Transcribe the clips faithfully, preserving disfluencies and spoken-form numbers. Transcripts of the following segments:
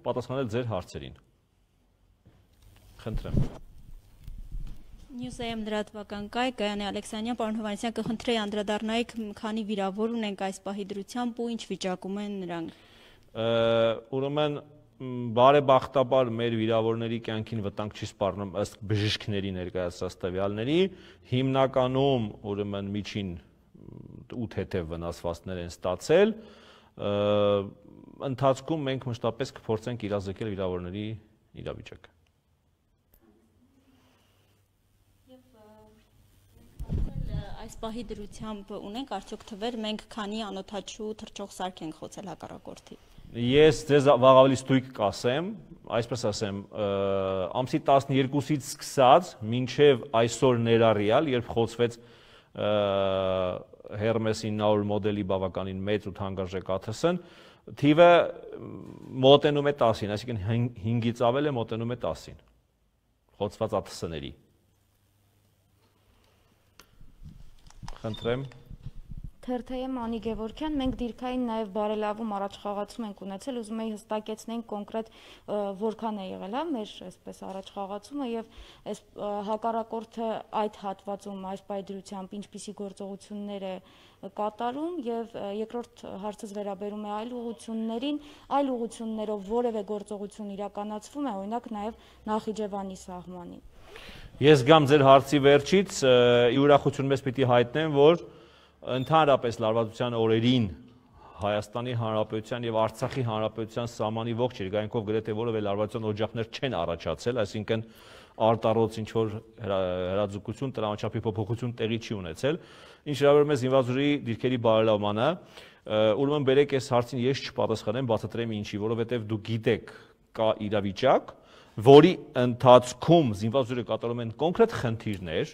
պատասխանել ձեր հարցերին։ Խնդրեմ։ Նյուզեյմ լրատվական կայ, Գայանե Ալեքսանյան, պարոն Հովհաննիսյան, կխնդրեի անդրադառնայիք քանի վիրավոր ունենք այս պահի դրությամբ ու ինչ վիճակում են նրանք։ Ուրեմն բարեբախտաբար մեր վիրավորների կյանքին վտանգ չի սպառնում ըստ բժիշկների ներկայացրած տվյալների, հիմնականում ուրեմն միջին ութ հետև վնասվածքներ են ստացել, ընթացքում մենք մշտապես կփորձենք իրազեկել վիրավորների իրավիճակը։ Այս պահի դրությամբ ունենք արդյոք թվեր, մենք քանի անօդաչու թռչող սարք ենք խոցել հակառակորդի։ Ես ձեզ վաղ ավելի ստույգ կասեմ, այսպես ասեմ, ամսի տասներկուսից սկսած մինչև այսօր ներառյալ, երբ խոցվեց Hermes ինը հարյուր մոդելի բավականին մեծ ու թանկարժեք աթսն, թիվը մոտենում է տասին, այսինքն հինգից ավել է մոտենում է տասին խոցված աթսների։ Խնդրեմ։ Թերթեյեմ Անի Գևորգյան, մենք դիրքային նաև բարելավում առաջխաղացում ենք ունեցել, ուզում էի հստակեցնենք կոնկրետ որքան է եղել, հա, մեր այսպես առաջխաղացումը եւ այս հակառակորդը այդ հատվածում այս պայդրությամբ ինչպիսի գործողություններ է կատարում եւ երկրորդ հարցս վերաբերում է այլ ուղություններին, այլ ուղություններով որևէ գործողություն իրականացվում է, օրինակ նաև Նախիջևանի սահմանին։ Ես գամ ձեր հարցի վերջից, ի ուրախություն մեզ պիտի հայտնեմ, որ ընդհանրապես լարվածության օրերին Հայաստանի Հանրապետության եւ Արցախի Հանրապետության սահմանի ողջ երկայնքով գրեթե որևէ լարվածության օջախներ չեն առաջացել, այսինքն արտառոց ինչ որ հրաձգություն, տրամաչափի փոփոխություն տեղի չի ունեցել։ Ինչ վերաբերում է զինված ուժերի դիրքերի բարելավմանը, ուրեմն բերեք այս հարցին ես չպատասխանեմ, բացատրեմ ինչի, որովհետեւ դուք գիտեք կա իրավիճակ, որի ընթացքում զինված ուժերը կատարում են կոնկրետ խնդիրներ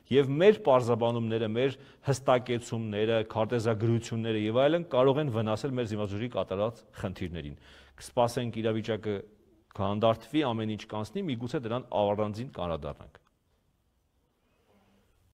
եւ մեր պարզաբանումները, մեր հստակեցումները, քարտեզագրությունները եւ այլն կարող են վնասել մեր զինված ուժերի կատարած խնդիրներին։ Կսպասենք իրավիճակը կհանդարտվի, ամեն ինչ կանցնի, միգուցե դրան առանձին կանրադառնանք։